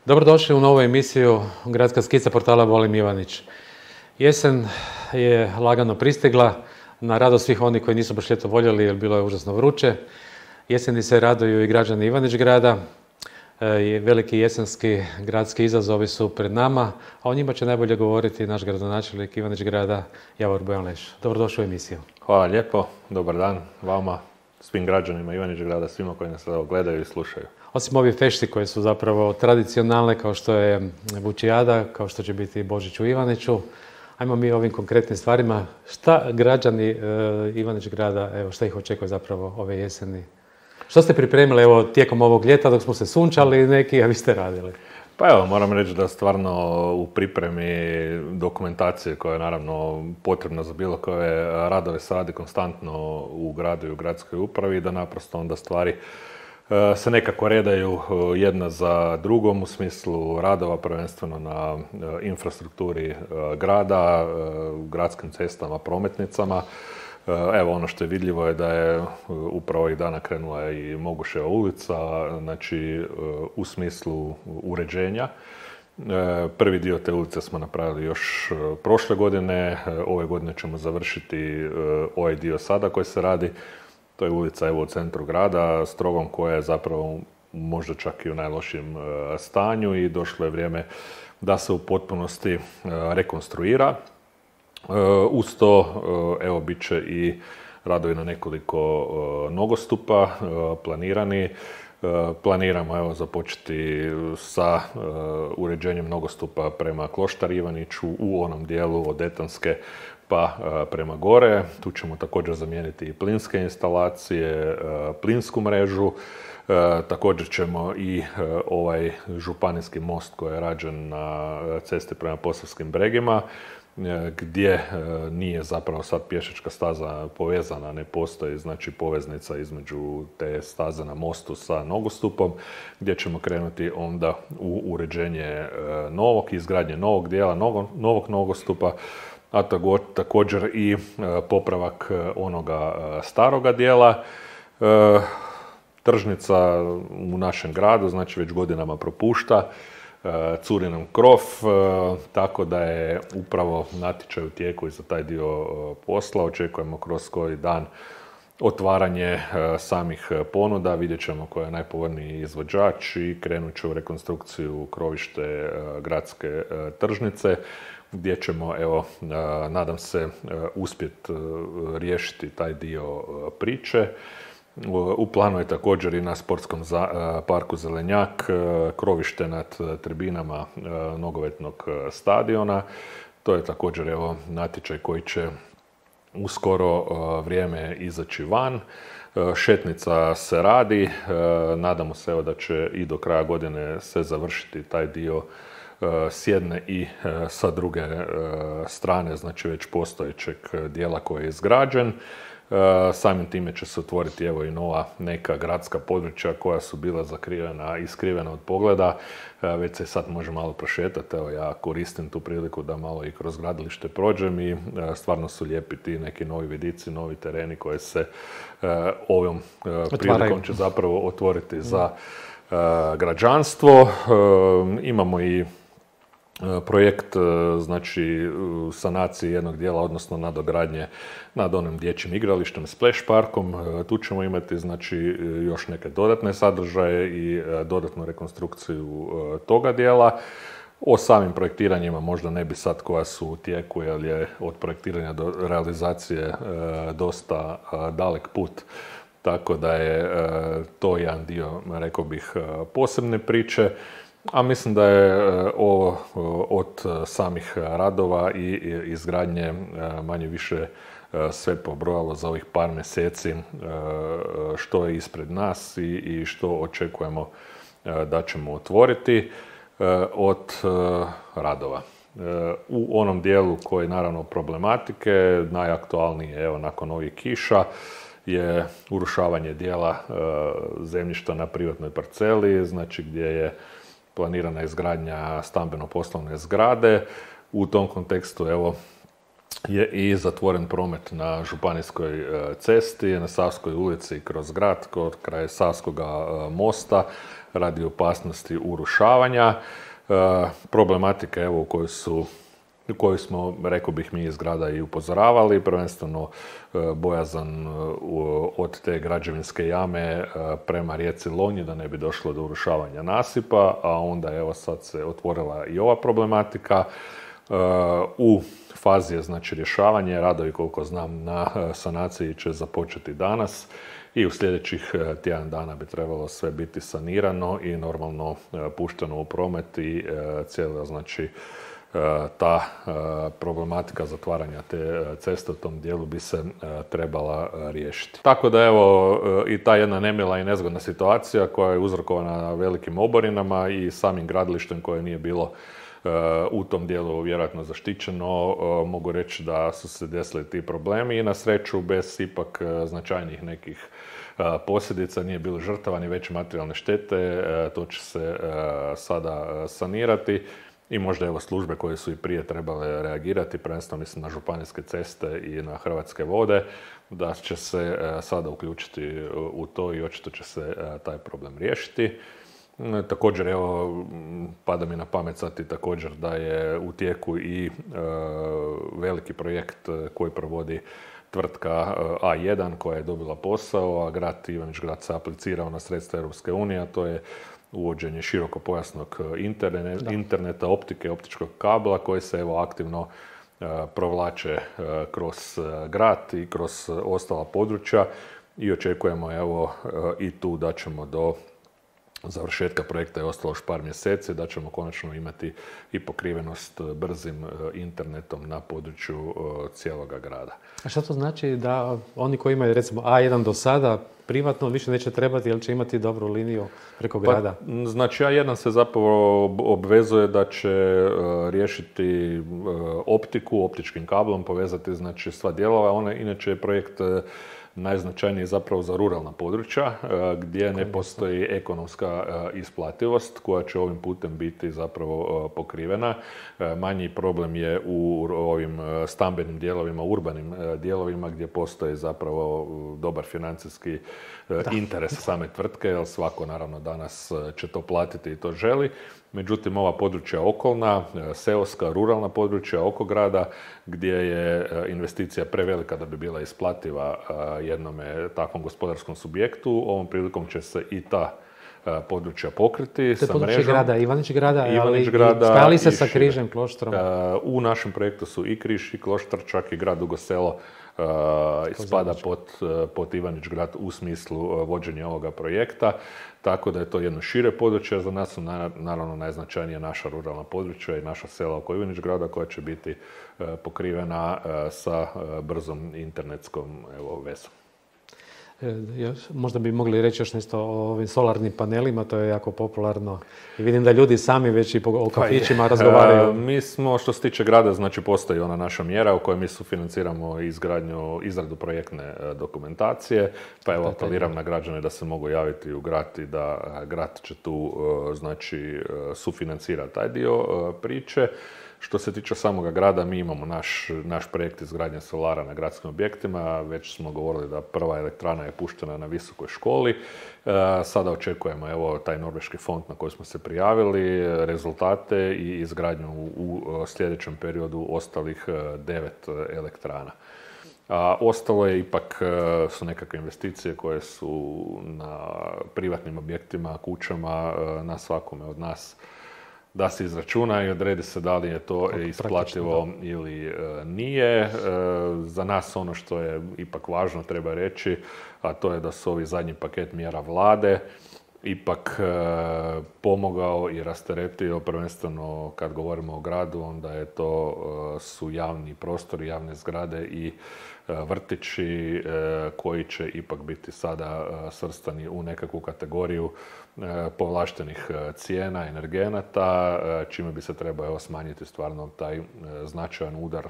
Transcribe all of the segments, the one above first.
Dobrodošli u novu emisiju Gradska skica portala Volim Ivanić. Jesen je lagano pristigla, na radost svih onih koji nisu baš ljeto voljeli jer bilo je užasno vruće. Jeseni se raduju i građani Ivanić grada. Veliki jesenski gradski izazovi su pred nama, a o njima će najbolje govoriti naš gradonačelnik Ivanić grada Javor Bojanleš. Dobrodošli u emisiju. Hvala lijepo, dobar dan vama, svim građanima Ivanić grada, svima koji nas gledaju i slušaju. Osim ovih fešti koje su zapravo tradicionalne, kao što je Vučijada, kao što će biti Božić u Ivaniću, ajmo mi ovim konkretnim stvarima. Šta građani Ivanić grada, evo, šta ih očekuje zapravo ove jeseni? Što ste pripremili evo, tijekom ovog ljeta dok smo se sunčali neki, a vi ste radili? Pa evo, moram reći da stvarno u pripremi dokumentacije koja je naravno potrebna za bilo koje radove se radi konstantno u gradu i u gradskoj upravi, da naprosto onda stvari se nekako redaju jedna za drugom u smislu radova, prvenstveno na infrastrukturi grada, gradskim cestama, prometnicama. Evo, ono što je vidljivo je da je upravo ovih dana krenula i Moguševa ulica, znači u smislu uređenja. Prvi dio te ulice smo napravili još prošle godine, ove godine ćemo završiti ovaj dio sada koji se radi. To je ulica evo u centru grada, Strogom, koja je zapravo možda čak i u najlošijem stanju i došlo je vrijeme da se u potpunosti rekonstruira. Uz to, evo, bit će i radovi na nekoliko nogostupa planirani. Planiramo, evo, započeti sa uređenjem nogostupa prema Kloštar Ivaniću u onom dijelu od Etanske pa prema gore. Tu ćemo također zamijeniti i plinske instalacije, plinsku mrežu. Također ćemo i ovaj županijski most koji je rađen na cesti prema Posavskim Bregima, gdje nije zapravo sad pješačka staza povezana, ne postoji znači poveznica između te staze na mostu sa nogostupom, gdje ćemo krenuti onda u uređenje novog, izgradnje novog dijela, novog nogostupa, a također i popravak onoga staroga dijela. Tržnica u našem gradu, znači već godinama propušta, curi nam krov, tako da je upravo natječaj u tijeku i za taj dio posla. Očekujemo kroz koji dan otvaranje samih ponuda, vidjet ćemo ko je najpovoljniji izvođač i krenut će u rekonstrukciju krovište gradske tržnice, gdje ćemo, evo, nadam se, uspjeti riješiti taj dio priče. U planu je također i na sportskom parku Zelenjak, krovište nad tribinama nogometnog stadiona. To je također, evo, natječaj koji će u skoro vrijeme izaći van. Šetnica se radi, nadamo se, evo, da će i do kraja godine se završiti taj dio s jedne i sa druge strane, znači već postojećeg dijela koji je izgrađen. Samim time će se otvoriti, evo, i nova neka gradska područja koja su bila zakrivena i skrivena od pogleda. Već se sad može malo prošetati. Evo, ja koristim tu priliku da malo i kroz gradilište prođem i stvarno su lijepi ti neki novi vidici, novi tereni koji se ovom prilikom će zapravo otvoriti za građanstvo. Imamo i projekt, znači, sanacije jednog dijela, odnosno nadogradnje nad onim dječjim igralištem, Splash parkom. Tu ćemo imati, znači, još neke dodatne sadržaje i dodatnu rekonstrukciju toga dijela. O samim projektiranjima možda ne bi sad koja su u tijeku, jer je od projektiranja do realizacije dosta dalek put. Tako da je to jedan dio, rekao bih, posebne priče. A mislim da je ovo od samih radova i izgradnje manje više sve pobrojalo za ovih par mjeseci što je ispred nas i što očekujemo da ćemo otvoriti od radova. U onom dijelu koji je naravno problematike, najaktualniji je, evo, nakon ovih kiša, je urušavanje dijela zemljišta na privatnoj parceli, znači gdje je planirana izgradnja stambeno-poslovne zgrade. U tom kontekstu, evo, je i zatvoren promet na Županijskoj cesti, na Savskoj ulici kroz grad, kraj Savskoga mosta. radi opasnosti urušavanja. Problematika evo koju smo, rekao bih, mi iz grada i upozoravali, prvenstveno bojazan od te građevinske jame prema rijeci Lonji da ne bi došlo do urušavanja nasipa, a onda evo sad se otvorila i ova problematika. U fazi je znači rješavanje, radovi koliko znam na sanaciji će započeti danas i u sljedećih tjedan dana bi trebalo sve biti sanirano i normalno pušteno u promet i cijela znači ta problematika zatvaranja te ceste u tom dijelu bi se trebala riješiti. Tako da evo i ta jedna nemila i nezgodna situacija koja je uzrokovana velikim oborinama i samim gradilištem koje nije bilo u tom dijelu vjerojatno zaštićeno, mogu reći da su se desili ti problemi i na sreću bez ipak značajnih nekih posljedica, nije bilo žrtava ni veće materijalne štete, to će se sada sanirati. I možda evo službe koje su i prije trebale reagirati, prvenstveno mislim na županijske ceste i na Hrvatske vode, da će se sada uključiti u to i očito će se taj problem riješiti. Također, evo, pada mi na pamet sad i također da je u tijeku i veliki projekt koji provodi tvrtka A1 koja je dobila posao, a grad Ivanić Grad se aplicirao na sredstva Europske unije, a to je uvođenje širokopojasnog interneta, optike, optičkog kabla koji se evo aktivno provlače kroz grad i kroz ostala područja i očekujemo evo i tu da ćemo do završetka projekta je ostalo još par mjeseci, da ćemo konačno imati i pokrivenost brzim internetom na području cijeloga grada. A što to znači da oni koji imaju recimo A1 do sada privatno više neće trebati jer će imati dobru liniju preko grada? Znači A1 se zapravo obvezuje da će riješiti optiku, optičkim kablom, povezati znači sva dijelova. Ona inače je projekt najznačajniji zapravo za ruralna područja gdje ne postoji ekonomska isplativost koja će ovim putem biti zapravo pokrivena. Manji problem je u ovim stambenim dijelovima, urbanim dijelovima gdje postoji zapravo dobar financijski interes same tvrtke, jer svako naravno danas će to platiti i to želi. Međutim, ova područja okolna, seoska, ruralna područja oko grada, gdje je investicija prevelika da bi bila isplativa jednome takvom gospodarskom subjektu, ovom prilikom će se i ta područja pokriti sa mrežom. To je područje grada, Ivanić grada, ali spali se sa Križem, Kloštrom. U našem projektu su i Križ i Kloštar, čak i grad Dugo Selo spada pod Ivanić grad u smislu vođenja ovoga projekta, tako da je to jedno šire područje. Za nas su naravno najznačajnije naša ruralna područja i naša sela oko Ivanić grada koja će biti pokrivena sa brzom internetskom vezom. Možda bi mogli reći još nešto o ovim solarnim panelima, to je jako popularno. I vidim da ljudi sami već i o kafićima razgovaraju. Mi smo, što se tiče grada, znači postoji ona naša mjera u kojoj mi sufinanciramo izradu projektne dokumentacije, pa evo apeliram na građane da se mogu javiti u grad i da grad će tu znači sufinancirati taj dio priče. Što se tiče samoga grada, mi imamo naš projekt izgradnje solara na gradskim objektima. Već smo govorili da prva elektrana je puštena na visokoj školi. Sada očekujemo evo taj norveški fond na koji smo se prijavili, rezultate i izgradnju u sljedećem periodu ostalih 9 elektrana. A ostalo je ipak su nekakve investicije koje su na privatnim objektima, kućama, na svakome od nas da se izračuna i odredi se da li je to isplativo ili nije. Za nas ono što je ipak važno treba reći, a to je da su ovi zadnji paket mjera vlade ipak pomogao i rasteretio, prvenstveno kad govorimo o gradu, onda je to su javni prostori, javne zgrade i vrtići koji će ipak biti sada svrstani u nekakvu kategoriju povlaštenih cijena, energenata, čime bi se trebao smanjiti stvarno taj značajan udar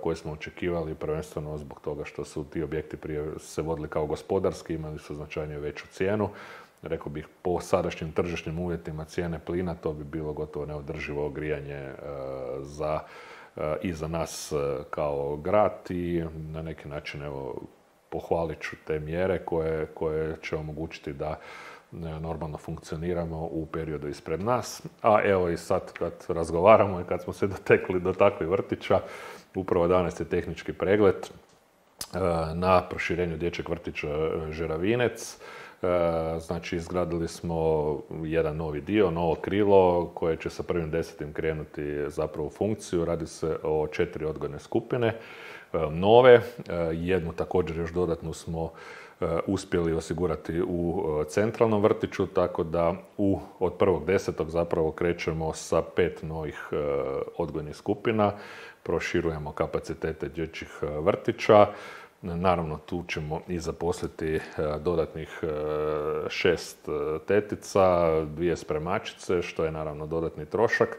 koji smo očekivali, prvenstveno zbog toga što su ti objekti prije se vodili kao gospodarski, imali su značajnije veću cijenu. Rekao bih, po sadašnjim tržišnim uvjetima cijene plina, to bi bilo gotovo neodrživo grijanje i za nas kao grad i na neki način evo, pohvalit ću te mjere koje će omogućiti da normalno funkcioniramo u periodu ispred nas. A evo i sad kad razgovaramo i kad smo se dotekli do takvih vrtića, upravo danas je tehnički pregled na proširenju dječjeg vrtića Žeravinec. Znači, izgradili smo jedan novi dio, novo krilo koje će sa 1.10. krenuti zapravo u funkciju. Radi se o 4 odgojne skupine nove. Jednu također još dodatnu smo uspjeli osigurati u centralnom vrtiću, tako da od 1.10. zapravo krećemo sa 5 novih odgojnih skupina. Proširujemo kapacitete dječjih vrtića. Naravno, tu ćemo i zaposliti dodatnih 6 tetica, 2 spremačice, što je naravno dodatni trošak,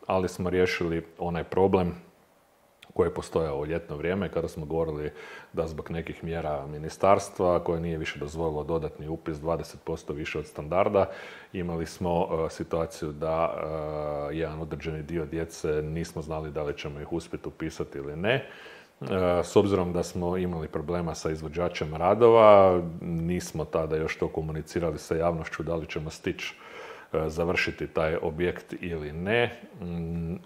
ali smo riješili onaj problem koji je postojao u ljetno vrijeme, kada smo govorili da zbog nekih mjera ministarstva, koje nije više dozvolilo dodatni upis 20% više od standarda, imali smo situaciju da jedan određeni dio djece nismo znali da li ćemo ih uspjeti upisati ili ne. S obzirom da smo imali problema sa izvođačem radova, nismo tada još to komunicirali sa javnošću da li ćemo stići završiti taj objekt ili ne.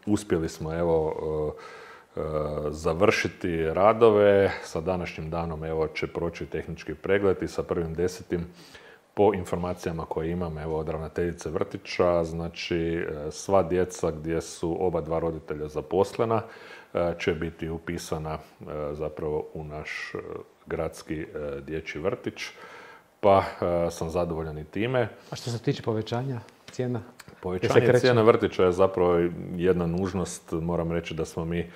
Uspjeli smo završiti radove. Sa današnjim danom će proći tehnički pregled i sa 1.10. po informacijama koje imam od ravnateljice vrtića, znači sva djeca gdje su oba dva roditelja zaposlena će biti upisana zapravo u naš gradski dječji vrtić, pa sam zadovoljan i time. A što se tiče povećanja cijena? Povećanje cijena vrtića je zapravo jedna nužnost. Moram reći da smo mi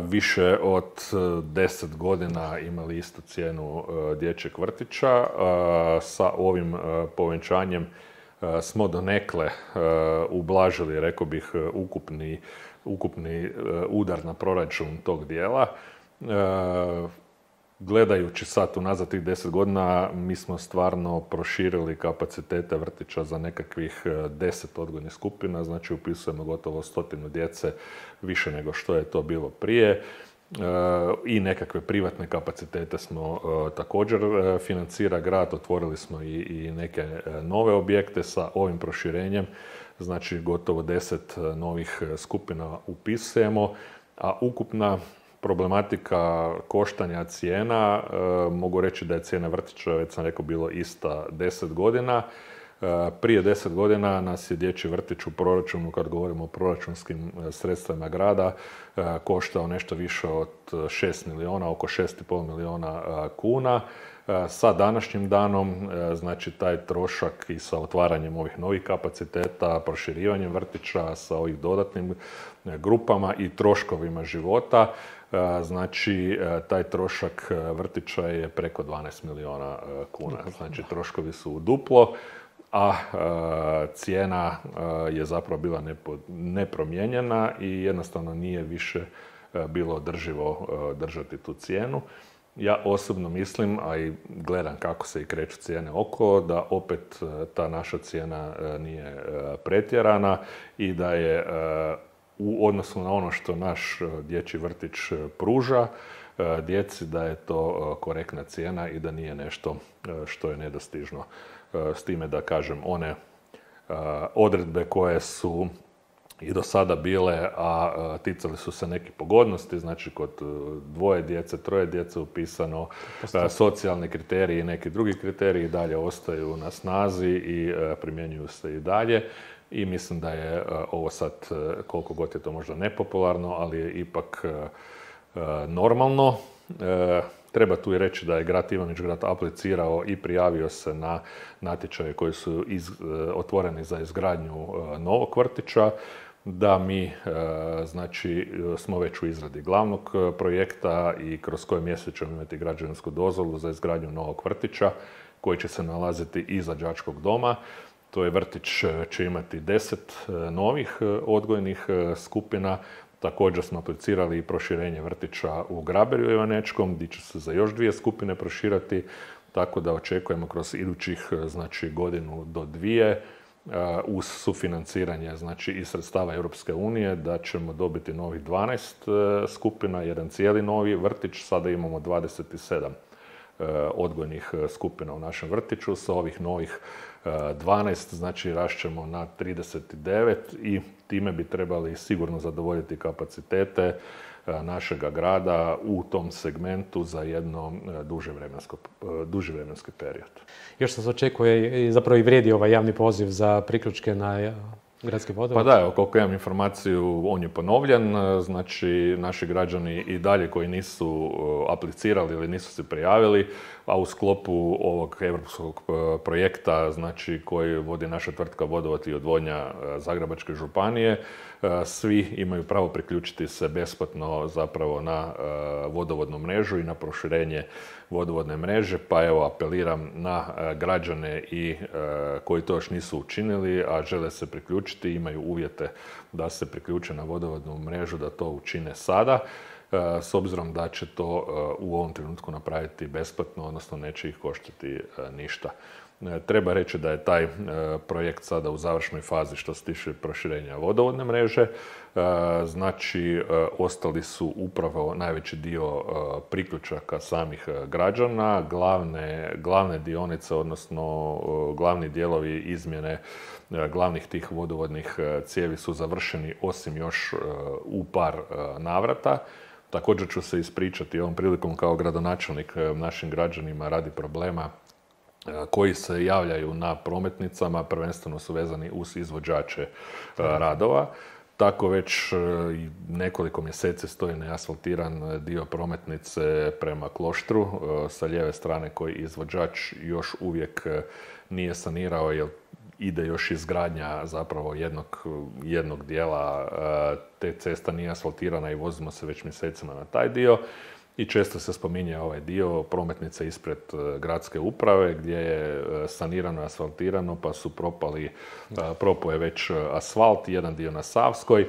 više od 10 godina imali istu cijenu dječjeg vrtića. Sa ovim povećanjem smo donekle ublažili, rekao bih, ukupni udar na proračun tog dijela. Gledajući sad unazad tih 10 godina, mi smo stvarno proširili kapacitete vrtića za nekakvih 10 odgojnih skupina, znači upisujemo gotovo 100 djece više nego što je to bilo prije. I nekakve privatne kapacitete smo također financira grad, otvorili smo i neke nove objekte sa ovim proširenjem, znači gotovo 10 novih skupina upisujemo, a ukupna problematika koštanja cijena, mogu reći da je cijena vrtića, već sam rekao, bilo ista 10 godina. Prije 10 godina nas je dječji vrtić u proračunu, kad govorimo o proračunskim sredstvima grada, koštao nešto više od 6 milijuna, oko 6,5 milijuna kuna. Sa današnjim danom, znači taj trošak i sa otvaranjem ovih novih kapaciteta, proširivanjem vrtića sa ovih dodatnim grupama i troškovima života, znači taj trošak vrtića je preko 12 milijuna kuna. Znači troškovi su u duplo, a cijena je zapravo bila nepromijenjena i jednostavno nije više bilo održivo držati tu cijenu. Ja osobno mislim, a i gledam kako se i kreću cijene okolo, da opet ta naša cijena nije pretjerana i da je u odnosu na ono što naš dječji vrtić pruža djeci, da je to korektna cijena i da nije nešto što je nedostižno. S time da kažem, one odredbe koje su i do sada bile, a ticali su se nekih pogodnosti, znači kod 2 djece, 3 djece upisano, socijalni kriteriji i neki drugi kriteriji dalje ostaju na snazi i primjenjuju se i dalje. I mislim da je ovo sad, koliko god je to možda nepopularno, ali je ipak normalno. Treba tu i reći da je grad Ivanić-Grad aplicirao i prijavio se na natječaje koji su otvoreni za izgradnju novog vrtića, da mi znači smo već u izradi glavnog projekta i kroz koji mjesec ćemo imati građevinsku dozvolu za izgradnju novog vrtića koji će se nalaziti iza đačkog doma. To je vrtić će imati 10 novih odgojnih skupina. Također smo aplicirali i proširenje vrtića u Graberju Ivanečkom, gdje će se za još 2 skupine proširati, tako da očekujemo kroz idućih godinu do 2 uz sufinanciranje iz sredstava Europske unije da ćemo dobiti novih 12 skupina, jedan cijeli novi vrtić. Sada imamo 27 odgojnih skupina u našem vrtiću. Sa ovih novih 12, znači rašćemo na 39 i time bi trebali sigurno zadovoljiti kapacitete našega grada u tom segmentu za jedno duži vremenski period. Još se očekuje i zapravo i vrijedi ovaj javni poziv za priključke na gradski vodovod? Pa da, evo, koliko imam informaciju, on je ponovljen. Znači, naši građani i dalje koji nisu aplicirali ili nisu se prijavili, a u sklopu ovog europskog projekta, znači, koji vodi naša tvrtka Vodovod i odvodnja Zagrebačke županije, svi imaju pravo priključiti se besplatno zapravo na vodovodnu mrežu i na proširenje vodovodne mreže, pa evo apeliram na građane i koji to još nisu učinili, a žele se priključiti, imaju uvjete da se priključe na vodovodnu mrežu, da to učine sada, s obzirom da će to u ovom trenutku napraviti besplatno, odnosno neće ih koštati ništa. Treba reći da je taj projekt sada u završnoj fazi što se tiče proširenja vodovodne mreže. Znači, ostali su upravo najveći dio priključaka samih građana. Glavne dionice, odnosno glavni dijelovi izmjene glavnih tih vodovodnih cijevi su završeni, osim još u par navrata. Također ću se ispričati ovom prilikom kao gradonačelnik našim građanima radi problema koji se javljaju na prometnicama, prvenstveno su vezani uz izvođače radova. Tako već nekoliko mjeseci stoji neasfaltiran dio prometnice prema Kloštru sa lijeve strane koji izvođač još uvijek nije sanirao, jer ide još izgradnja zapravo jednog dijela te cesta nije asfaltirana i vozimo se već mjesecima na taj dio. I često se spominje ovaj dio prometnice ispred gradske uprave gdje je sanirano i asfaltirano, pa su propao je već asfalt, jedan dio na Savskoj.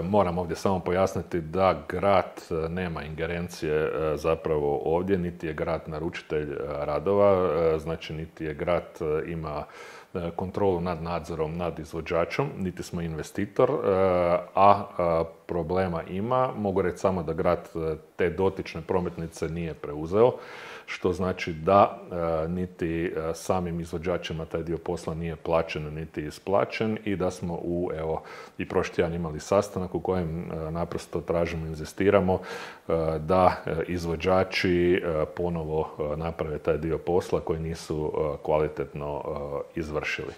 Moram ovdje samo pojasniti da grad nema ingerencije zapravo ovdje, niti je grad naručitelj radova, znači niti je grad ima kontrolu nad nadzorom nad izvođačom, niti smo investitor, a problema ima. Mogu reći samo da grad te dotične prometnice nije preuzeo, što znači da niti samim izvođačima taj dio posla nije plaćen niti isplaćen i da smo i prošli tjedan imali sastanak u kojem naprosto tražimo, inzistiramo da izvođači ponovo naprave taj dio posla koji nisu kvalitetno izvršili.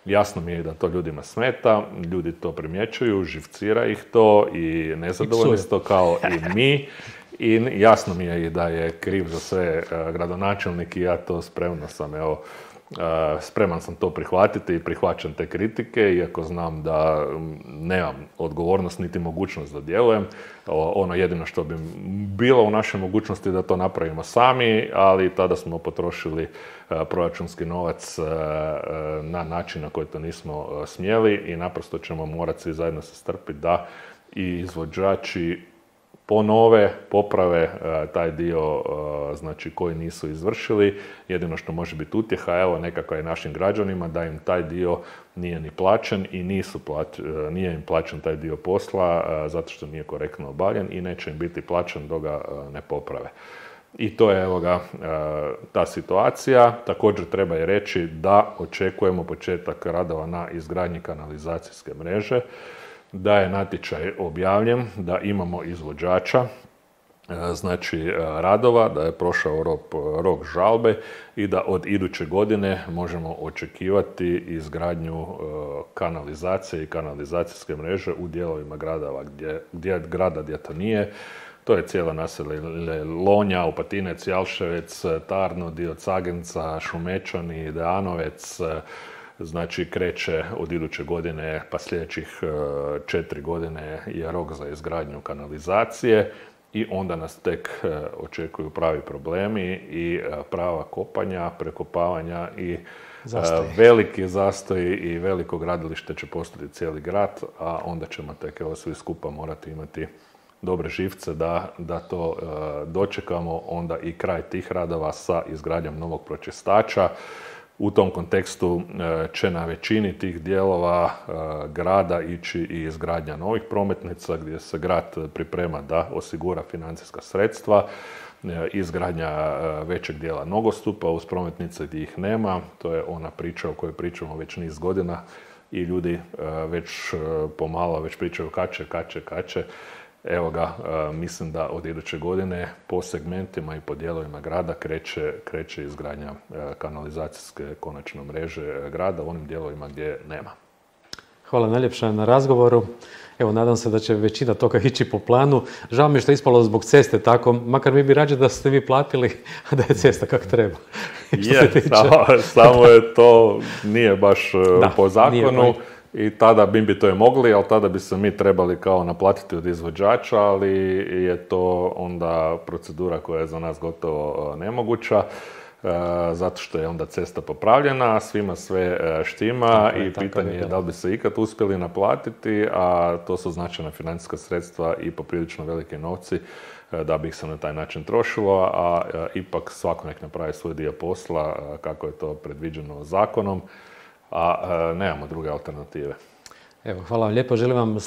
Jasno mi je da to ljudima smeta, ljudi to primjećuju, živcira ih to i nezadovoljni su to kao i mi. I jasno mi je i da je kriv za sve gradonačelnik i ja to spreman sam to prihvatiti i prihvaćam te kritike, iako znam da nemam odgovornost niti mogućnost da djelujem. Ono jedino što bi bilo u našoj mogućnosti da to napravimo sami, ali tada smo potrošili proračunski novac na način na koji to nismo smjeli i naprosto ćemo morati svi zajedno se strpiti da i izvođači poprave taj dio znači, koji nisu izvršili. Jedino što može biti utjeha, evo nekako je našim građanima da im taj dio nije ni plaćen i nije im plaćen taj dio posla zato što nije korektno obavljen i neće im biti plaćen dok ga ne poprave. I to je ta situacija. Također treba i reći da očekujemo početak radova na izgradnji kanalizacijske mreže, da je natječaj objavljen, da imamo izvođača, znači radova, da je prošao rok žalbe i da od iduće godine možemo očekivati izgradnju kanalizacije i kanalizacijske mreže u dijelovima grada gdje to nije. To je cijela naselje Lonja, Opatinec, Jalševec, Tarno, dio Cagenca, Šumečani, Deanovec. Znači, kreće od iduće godine, pa sljedećih 4 godine je rok za izgradnju kanalizacije i onda nas tek očekuju pravi problemi i prava kopanja, prekopavanja i veliki zastoji i veliko gradilište će postati cijeli grad, a onda ćemo tek svi skupa morati imati dobre živce da to dočekamo, onda i kraj tih radova sa izgradnjom novog pročistača U tom kontekstu će na većini tih dijelova grada ići i izgradnja novih prometnica gdje se grad priprema da osigura financijska sredstva, izgradnja većeg dijela nogostupa uz prometnice gdje ih nema. To je ona priča o kojoj pričamo već niz godina i ljudi već pomalo već pričaju kače. Evo ga, mislim da od iduće godine po segmentima i po dijelovima grada kreće izgradnja kanalizacijske konačno mreže grada u onim dijelovima gdje nema. Hvala najljepša na razgovoru. Evo, nadam se da će većina toga ići po planu. Žao mi je što je ispalo zbog ceste tako, makar mi bi rađe da ste vi platili, a da je cesta kako treba. Samo je to, nije baš po zakonu. I tada bi to je mogli, ali tada bi se mi trebali kao naplatiti od izvođača, ali je to onda procedura koja je za nas gotovo nemoguća, zato što je onda cesta popravljena, svima sve štima i pitanje je da li bi se ikad uspjeli naplatiti, a to su značajna financijska sredstva i poprilično velike novci da bi ih se na taj način trošilo, a ipak svako nek napravi svoj dio posla kako je to predviđeno zakonom, a nemamo druge alternative. Evo, hvala vam lijepo. Želim vam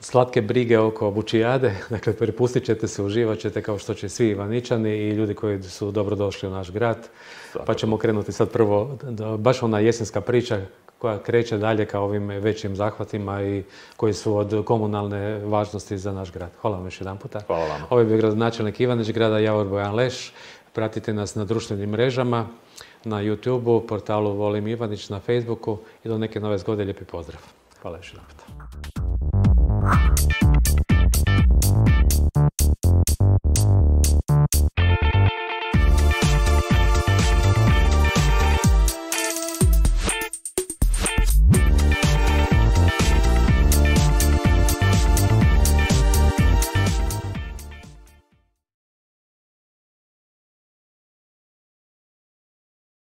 slatke brige oko Bučijade. Dakle, prepustit ćete se, uživat ćete kao što će svi Ivaničani i ljudi koji su dobro došli u naš grad. Pa ćemo krenuti sad prvo, baš ona jesenska priča koja kreće dalje ka ovim većim zahvatima i koji su od komunalne važnosti za naš grad. Hvala vam još jedan puta. Hvala vam. Ovo je bio gradonačelnik Ivanić, grada Javor Bojan Leš. Pratite nas na društvenim mrežama, na YouTube-u, portalu Volim Ivanić, na Facebooku i do neke nove zgode lijepi pozdrav. Hvala još jedan puta.